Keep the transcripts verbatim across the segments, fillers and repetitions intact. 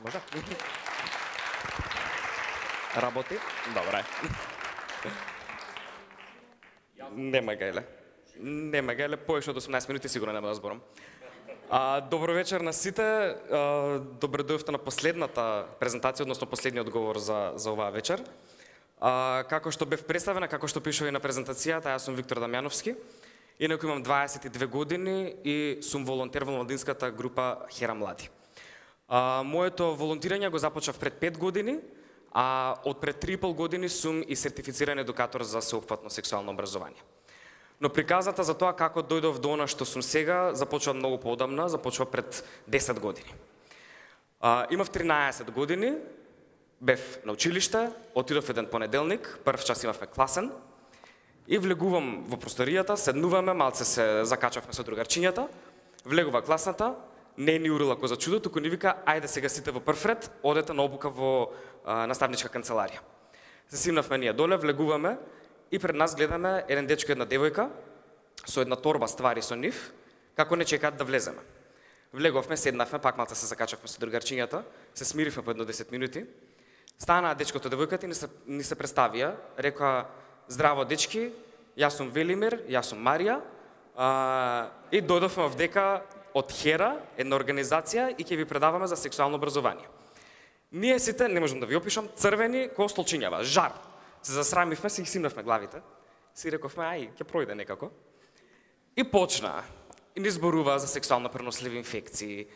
Може? Работи? Добре. Нема гајле. Нема гајле, повеќе од осумнаесет минути сигурно нема да зборам. А, добро вечер на сите. А, добре дојдовте на последната презентација, односно последниот говор за, за оваа вечер. А, како што бев представена, како што пишува и на презентацијата, јас сум Виктор Дамјановски. Инаку имам дваесет и две години и сум волонтер во младинската група Хера Млади. А, моето волонтирање го започнав пред пет години, а од пред три и пол години сум и сертифициран едукатор за сеопфатно сексуално образование. Но приказата за тоа како дојдов до она што сум сега започва многу поодамна, започва пред десет години. А, имав тринаесет години, бев на училиште, отидов еден понеделник, прв час имавме класен, и влегувам во просторијата, седнуваме, малце се закачавме со другарчињата, влегува класната, не ни урила ко за чудо, туку ни вика, ајде сега сите во прв ред, одете на обука во а, наставничка канцеларија. Се симнавме ние доле, влегуваме и пред нас гледаме еден дечко и една девојка со една торба ствари со нив, како не чекаат да влеземе. Влеговме, седнавме, пак малце се закачавме со другарчињата, се смиривме по едно десет минути. Станаа дечкото и девојката и ни се, ни се представија, рекоа: здраво дечки, јас сум Велимир, јас сум Марија, а, и дојдовме овдека од Хера, една организација, и ќе ви предаваме за сексуално образование. Ние сите, не можам да ви опишам, црвени ко столчињава, жар. Се засрамивме, се их симнавме главите. Си рековме, ај, ќе пројде некако. И почна. И ни зборува за сексуално преносливи инфекции,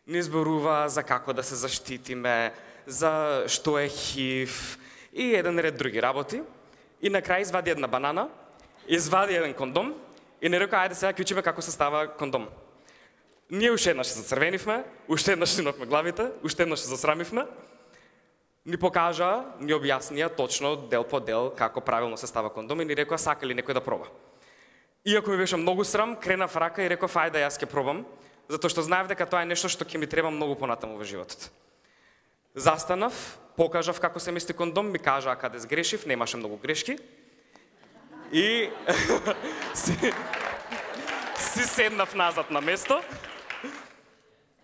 ни зборува за како да се заштитиме, за што е ХИВ и еден ред други работи. И на крај извади една банана, извади еден кондом и не река, ајде сега ќе учиме како се става кондом. Ние уште еднаш се зацрвенивме, уште еднаш симнавме главите, уште еднаш се засрамивме. Ни покажа, ни објаснија точно дел по дел како правилно се става кондом и ни рекоа сака ли некој да проба. Иако ми беше многу срам, кренав рака и реков ајде јас ќе пробам, затоа што знаев дека тоа е нешто што ќе ми треба многу понатаму во животот. Застанав, покажав како се мести кондом, ми кажаа каде сгрешив, немаше многу грешки. И си, си седнав назад на место.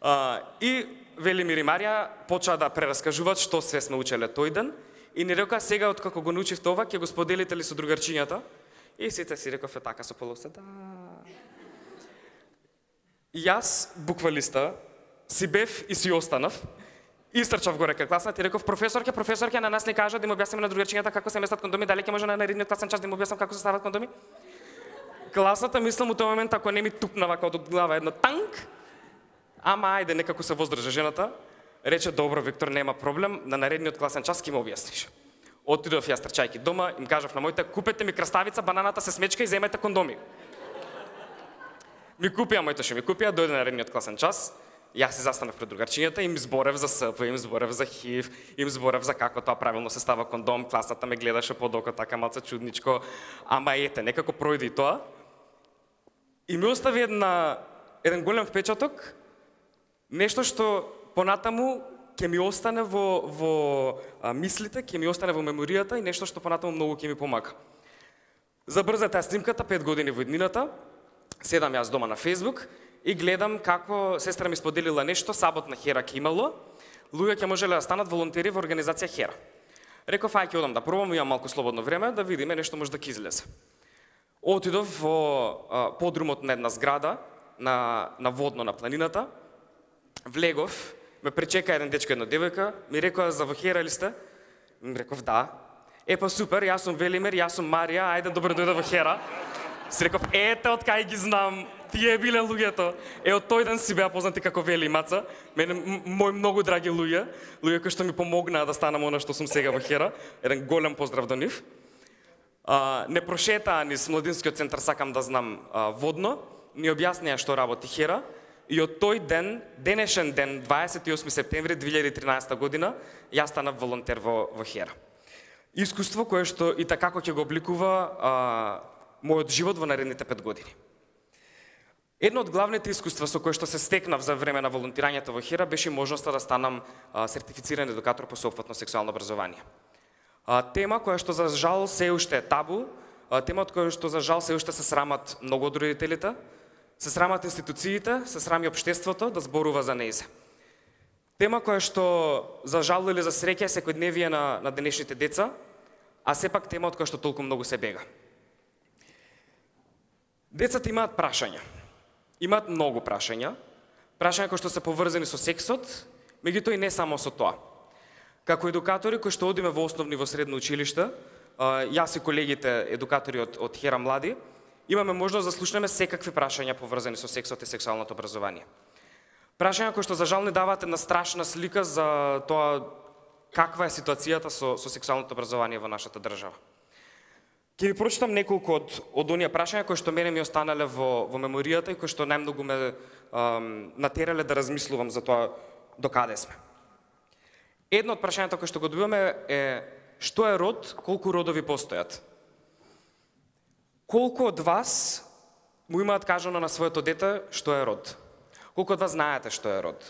А, и Велимир и Марија почаа да прераскажуваат што све сме учеле тој ден и ни рекоа сега откако го научивте ова ќе го споделите ли со другарчињата? И сите си рекове така со полусе, да. Јас буквалиста си бев и си останав. Истрчав горе кај класната и реков: професорке, професорке, на нас ни кажа да им објасниме на другарчињата како се местат кондоми, дали ќе може на наредниот класен час да им објаснам како се стават кондоми? Класата, мислам, у тој момент, ако не ми тупна вака од глава едно танк, ама ајде, некако се воздржа жената, рече: добро, Виктор, нема проблем, на наредниот класен час ќе ме објасниш. Отидов јас трчајки дома, им кажав на моите: купете ми краставица, бананата се смечка и земете кондоми. Ми купија, моите ше ми купија, дојде на наредниот класен час. Јас се застанав пред другарчињата, им зборев за СП, им зборев за ХИВ, им зборев за како тоа правилно се става кондом, класата ме гледаше под око, така малце чудничко, ама ете, некако пројде и тоа. И ми остави една, еден голем впечаток, нешто што понатаму ќе ми остане во, во а, мислите, ќе ми остане во меморијата и нешто што понатаму многу ќе ми помага. Забрзете снимката, пет години во иднината, седам јас дома на Facebook, и гледам како сестра ми споделила нешто, сабот на Хера ќе имало, луѓе ќе можеле да станат волонтери во организација Хера. Реков, ај ќе одам да пробам, имам малку слободно време, да видиме нешто може да ќе излезе. Отидов во а, подрумот на една зграда, на, на водно на планината, влегов, ме пречека еден дечко и една девојка, ми рекоа: за во Хера ли сте? Ми реков да. Е па супер, јас сум Велимир, јас сум Марија, ајде добро дојде во Хера. Си реков: ете од кај ги знам, тие биле луѓето. Е, од тој ден си беа познати како Вели и Маца, мене мои многу драги луѓе, луѓе кои што ми помогнаа да станам она што сум сега во Хера. Еден голем поздрав до нив. А, не прошетаа низ младинскиот центар Сакам да знам а, водно, ни објаснија што работи Хера и од тој ден, денешен ден, дваесет и осми септември две илјади и тринаесета година, јас станав волонтер во, во Хера. Искуство кое што и така ќе го обликува а, мојот живот во наредните пет години. Едно од главните искуства со кои што се стекнав за време на волонтирањето во Хера беше можноста да станам а, сертифициран едукатор по сеопфатно сексуално образование. А, тема која што за жал се уште е табу, а, тема од која што за жал се уште се срамат многу од родителите, се срамат институциите, се срами општеството да зборува за нејзе. Тема која што за жал или за среќа е секојдневие на, на денешните деца, а сепак тема од која што толку многу се бега. Децата имаат прашања. Имаат многу прашања. Прашања кои што се поврзани со сексот, меѓутоа и не само со тоа. Како едукатори кои што одиме во основни и во средно училиште, јас и колегите едукатори од, од Хера Млади, имаме можност да слушнеме секакви прашања поврзани со сексот и сексуалното образование. Прашања кои што за жал не даваат една страшна слика за тоа каква е ситуацијата со, со сексуалното образование во нашата држава. Ќе ви прочитам неколку од, од оние прашања кои што мене ми останале во, во меморијата и кои што најмногу ме ам, натерале да размислувам за тоа до каде сме. Едно од прашањата кои што го добиваме е што е род, колку родови постојат. Колку од вас му имаат кажано на своето дете што е род? Колку од вас знаете што е род?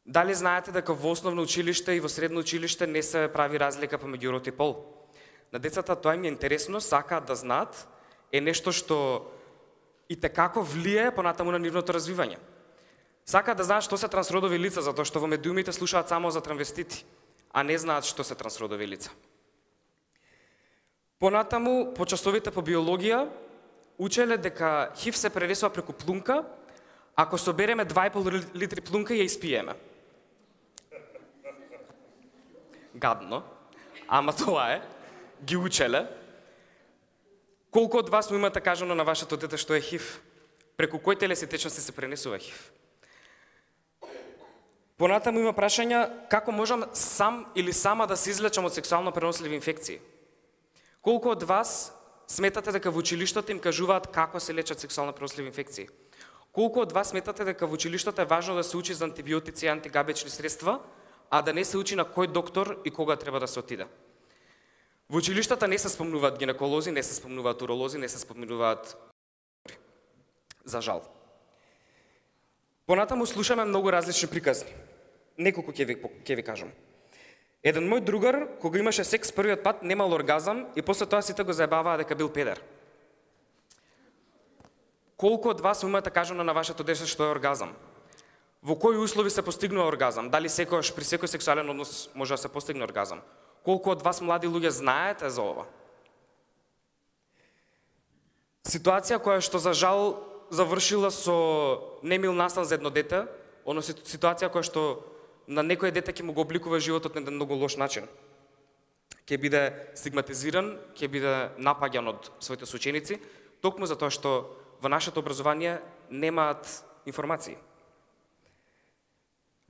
Дали знаете дека во основно училиште и во средно училиште не се прави разлика помеѓу род и пол? На децата тоа им е интересно, сакаат да знаат, е нешто што и текако влие понатаму на нивното развивање. Сакаат да знаат што се трансродови лица, затоа што во медиумите слушаат само за транвестити, а не знаат што се трансродови лица. Понатаму, по часовите по биологија, учеле дека ХИВ се пренесува преку плунка, ако собереме два и пол литри плунка и ја испиеме. Гадно, ама тоа е. Ги учеле. Колку од вас му имате кажано на вашето дете што е ХИВ? Преку кој телесни течности се пренесува ХИВ? Понатаму има прашања како можам сам или сама да се излечам од сексуално преносливи инфекции. Колку од вас сметате дека во училиштето им кажуваат како се лечат сексуално преносливи инфекции? Колку од вас сметате дека во училиштето е важно да се учи за антибиотици и антигабечни средства, а да не се учи на кој доктор и кога треба да се отиде? Во училиштата не се спомнуваат гинеколози, не се спомнуваат уролози, не се спомнуваат за жал. Понатаму слушаме многу различни приказни. Неколку ќе ви, ќе ви кажам. Еден мој другар, кога имаше секс првиот пат, немал оргазам и после тоа сите го заебаваа дека бил педер. Колку од вас имате кажано на вашето дете што е оргазам? Во кои услови се постигнува оргазам? Дали секојаш при секој сексуален однос може да се постигне оргазам? Колку од вас млади луѓе знаете за ова? Ситуација која што за жал завршила со немил настан за едно дете, односно ситуација која што на некој дете ќе му го обликува животот на еден многу лош начин. Ќе биде стигматизиран, ќе биде напаѓан од своите соученици, токму затоа што во нашето образование немаат информации.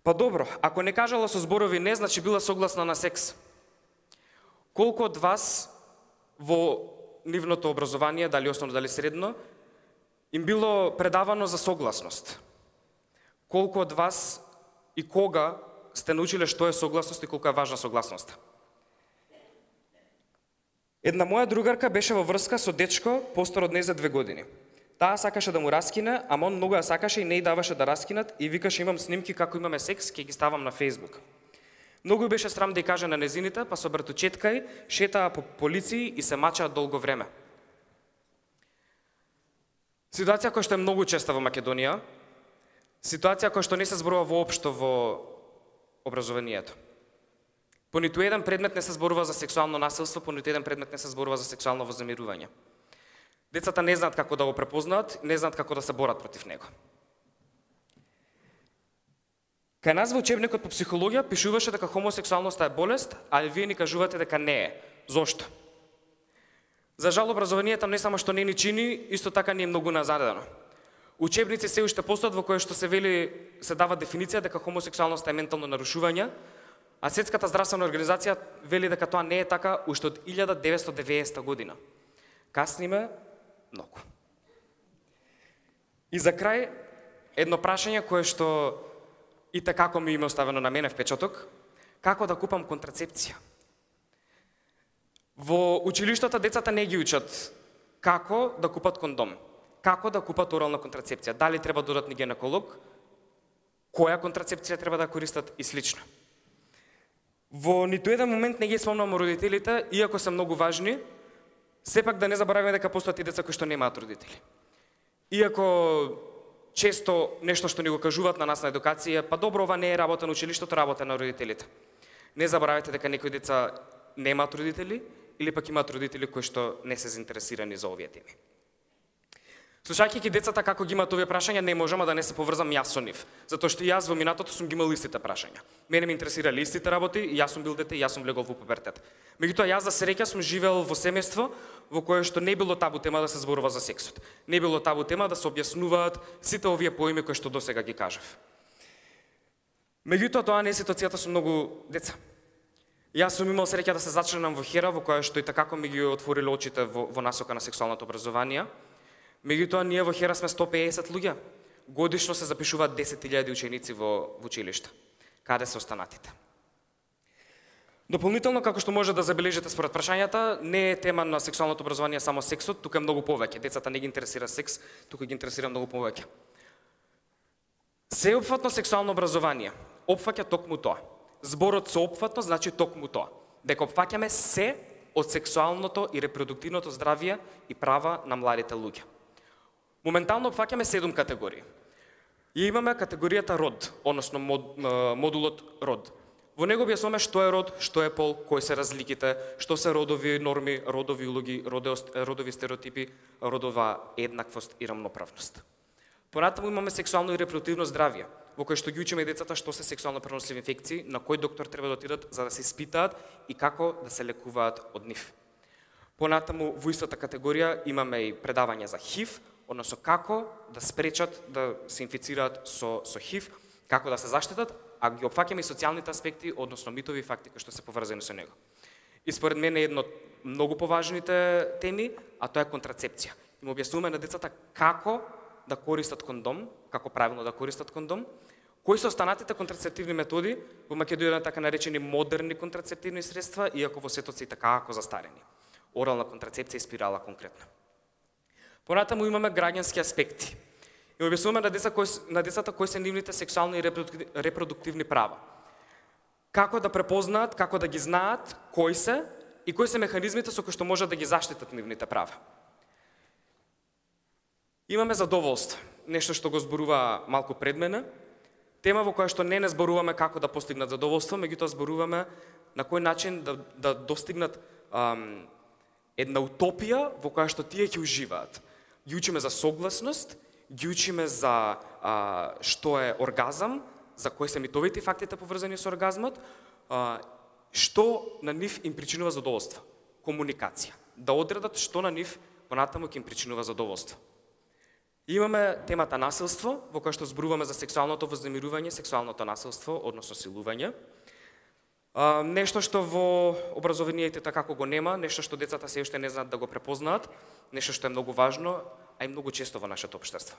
Па добро, ако не кажала со зборови не, значи била согласна на секс. Колку од вас во нивното образование, дали основно, дали средно, им било предавано за согласност? Колку од вас и кога сте научиле што е согласност и колку е важна согласноста? Една моја другарка беше во врска со дечко постар од неј за две години. Таа сакаше да му раскине, ама он многу ја сакаше и не ја даваше да раскинат и викаше имам снимки како имаме секс, ќе ги ставам на Facebook. Многу беше срам да ја каже на незините, па со братучеткај шетаа по полиции и се мачаат долго време. Ситуација која што е многу честа во Македонија, ситуација која што не се зборува воопшто во образованието. По ниту еден предмет не се зборува за сексуално насилство, по ниту еден предмет не се зборува за сексуално вознемирување. Децата не знаат како да го препознаат, не знаат како да се борат против него. Кај нас во учебникот по психологија пишуваше дека хомосексуалноста е болест, а вие ни кажувате дека не е. Зошто? За жал образованието не само што не ни чини, исто така ни е многу назадено. Учебници се уште постојат во кои што се вели, се дава дефиниција дека хомосексуалноста е ментално нарушување, а Светската здравствена организација вели дека тоа не е така уште од илјада деветстотини и деветдесета година. Касниме многу. И за крај, едно прашање кое што и така ми има оставено на мене впечаток, како да купам контрацепција. Во училиштата децата не ги учат како да купат кондом, како да купат орална контрацепција, дали треба да одат на гинеколог, која контрацепција треба да користат и слично. Во ниту еден момент не ги спомнам родителите, иако се многу важни, сепак да не забораваме дека постојат и деца кои што немаат родители. Иако често нешто што ни го кажуваат на нас на едукација, па добро, ова не е работа на училиштето, работа на родителите. Не заборавајте дека некои деца немаат родители или пак имаат родители кои што не се заинтересирани за овие теми. Слушајќи децата како ги имаат овие прашања, не можам да не се поврзам јас со нив, затоа што и јас во минатото сум ги имал истите прашања. Мене ме интересирале истите работи, и јас сум бил дете, и јас сум влегол во пубертет. Меѓутоа јас за среќа сум живеел во семејство во кое што не било табу тема да се зборува за сексот. Не било табу тема да се објаснуваат сите овие поими кои што досега ги кажав. Меѓутоа тоа не е ситуацијата со многу деца. Јас сум имал среќа да се зачленам во Хера, во која што и такако ми ги отвориле очите во, во насока на сексуалното образование. Меѓутоа, ние во Хера сме сто и песет луѓе. Годишно се запишуваат десет илјади ученици во, во училиште. Каде се останатите? Дополнително, како што може да забележите според прашањата, не е тема на сексуалното образование само сексот, тука е многу повеќе. Децата не ги интересира секс, тука ги интересира многу повеќе. Сеопфатно сексуално образование опфаќа токму тоа. Зборот сеопфатно значи токму тоа. Дека опфаќаме се од сексуалното и репродуктивното здравје и права на младите луѓе. Моментално опфаќаме седум категории. И имаме категоријата род, односно мод, модулот род. Во него објаснуваме што е род, што е пол, кои се разликите, што се родови норми, родови улоги, родови стереотипи, родова еднаквост и рамноправност. Понатаму имаме сексуално и репродуктивно здравје, во кој што ги учиме децата што се сексуално преносливи инфекции, на кој доктор треба да отидат за да се испитаат и како да се лекуваат од нив. Понатаму во истата категорија имаме и предавање за ХИВ, односно како да спречат да се инфицираат со, со ХИВ, како да се заштитат, а ги опфаќаме и социјалните аспекти, односно митови и факти кои што се поврзани со него. И според мене е едно од многу поважните теми, а тоа е контрацепција. Им објаснуваме на децата како да користат кондом, како правилно да користат кондом, кои се останатите контрацептивни методи, во Македонија така наречени модерни контрацептивни средства, иако во светот се и така како застарени. Орална контрацепција и спирала конкретно. Понатаму имаме граѓански аспекти. И објаснуваме на, деца кои, на децата кои се нивните сексуални и репродуктивни права. Како да препознаат, како да ги знаат, кои се и кои се механизмите со кои што можат да ги заштитат нивните права. Имаме задоволство, нешто што го зборува малку пред мене, тема во која што не не зборуваме како да постигнат задоволство, меѓутоа зборуваме на кој начин да, да достигнат ам, една утопија во која што тие ќе уживаат. Ги учиме за согласност, ги учиме за а, што е оргазам, за кои се митовите и фактите поврзани со оргазмот, а, што на нив им причинува задоволство. Комуникација. Да одредат што на нив понатаму ќе им причинува задоволство. Имаме темата насилство, во која што зборуваме за сексуалното вознемирување, сексуалното насилство, односно силување. А, нешто што во образованието како го нема, нешто што децата се уште не знаат да го препознаат, нешто што е многу важно, а и многу често во нашето општество.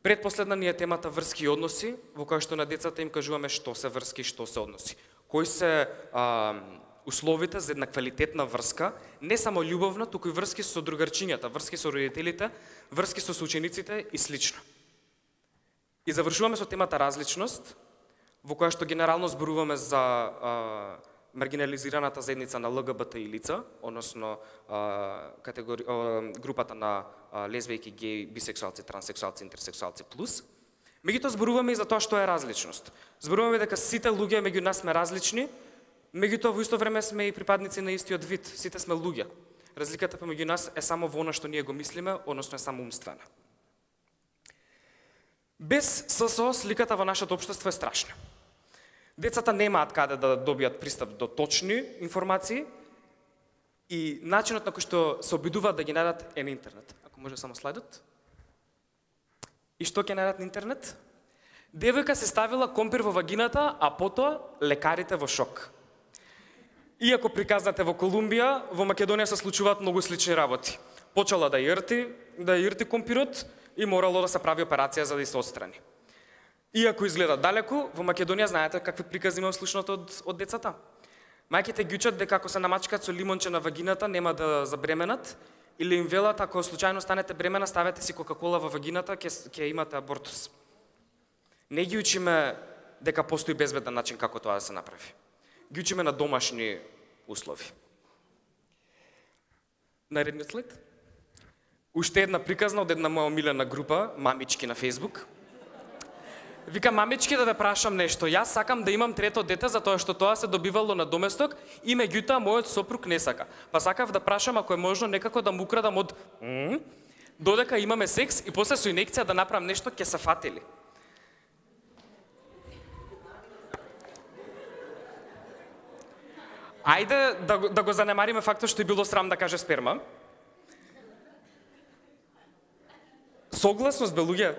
Предпоследна ни е темата врски и односи, во која што на децата им кажуваме што се врски, што се односи. Кои се а, условите за една квалитетна врска, не само љубовна, туку и врски со другарчињата, врски со родителите, врски со соучениците и слично. И завршуваме со темата различност, во која што генерално зборуваме за а, маргинализираната заедница на Л Г Б Т И лица, односно а, категори... а, групата на а, лесбијки, геи, бисексуалци, транссексуалци, интерсексуалци плюс. Меѓутоа зборуваме и за тоа што е различност. Зборуваме дека сите луѓе меѓу нас сме различни, меѓутоа во исто време сме и припадници на истиот вид, сите сме луѓе. Разликата помеѓу нас е само во она што ние го мислиме, односно е само умствена. Без С С О сликата во нашето општество е страшна. Децата немаат каде да добијат пристап до точни информации и начинот на кој што се обидуваат да ги најдат е на интернет. Ако може само слайдот. И што ќе најдат на интернет? Девојка се ставила компир во вагината, а потоа лекарите во шок. Иако приказнате во Колумбија, во Македонија се случуваат многу слични работи. Почела да јрти, да јрти компирот и морало да се прави операција за да се отстрани. Иако изгледа далеку, во Македонија знаете какви прикази има слушнато од, од децата. Мајките ги учат дека ако се намачкаат со лимонче на вагината нема да забременат, или им велат ако случајно станете бремена, ставете си кока-кола во вагината, ќе ќе имате абортус. Не ги учиме дека постои безбеден начин како тоа да се направи. Ги учиме на домашни услови. Наредниот слайд. уште една приказна од една моја омилена група, мамички на Facebook. Вика, мамички, да ве прашам нешто. Јас сакам да имам трето дете затоа што тоа се добивало на доместок и меѓутоа мојот сопруг не сака. Па сакав да прашам ако е можно некако да му украдам од м, додека имаме секс и после со инекција да направам нешто, ќе се фатели. Ајде да, го- да го занемариме фактот што е било срам да каже сперма. Согласност, бе, луѓе.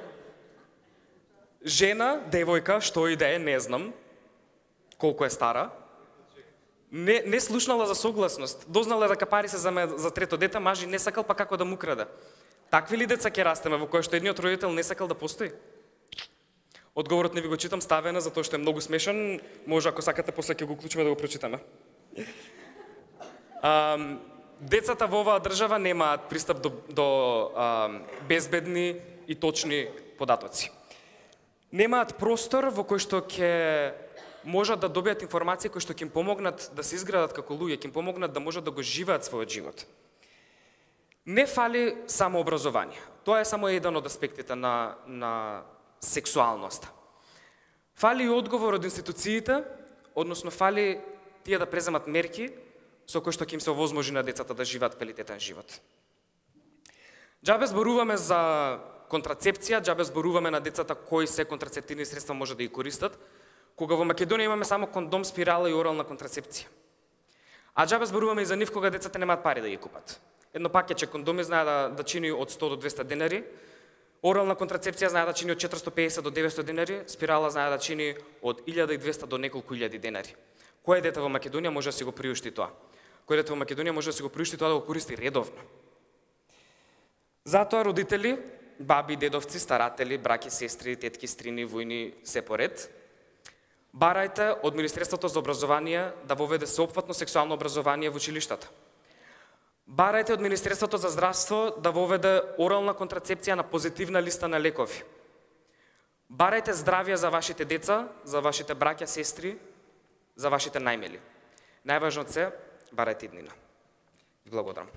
Жена, девојка, што и да е, не знам колку е стара, не, не слушнала за согласност. Дознала да капари се за, ме, за трето дете, мажи не сакал, па како да му краде. Такви ли деца ќе растеме во кој што едниот родител не сакал да постои? Одговорот не ви го читам, ставена, затоа што е многу смешен. Може, ако сакате, после ќе го уклучиме да го прочитаме. Ам, децата во оваа држава немаат пристап до, до ам, безбедни и точни податоци. Немаат простор во кој што ќе можат да добијат информации кои што ќе им помогнат да се изградат како луѓе, ќе им помогнат да можат да го живеат својот живот. Не фали само образование. Тоа е само еден од аспектите на, на сексуалноста. Фали и одговор од институциите, односно фали тие да преземат мерки со кои што ќе им се овозможи на децата да живеат квалитетен живот. Џабе зборуваме за контрацепција, џабе зборуваме на децата кои се контрацептивни средства може да ги користат, кога во Македонија имаме само кондом, спирала и орална контрацепција. А џабе зборуваме и за нив кога децата немаат пари да ги купат. Едно пакетче кондоми знае да, да чини од сто до двесте денари, орална контрацепција знае да чини од четиристо и песет до деветсто денари, спирала знае да чини од илјада и двесте до неколку илјади денари. Кој дете во Македонија може да си го приушти тоа? Кој дете во Македонија може да си го приушти тоа да го користи редовно? Затоа родители, баби, дедовци, старатели, браќи, сестри, тетки, стрини, војни, се поред, барајте од Министерството за образование да воведе сеопфатно сексуално образование во училиштата. Барајте од Министерството за здравство да воведе орална контрацепција на позитивна листа на лекови. Барајте здравје за вашите деца, за вашите браќа, сестри, за вашите најмили. Најважно се, барајте иднина. Благодарам.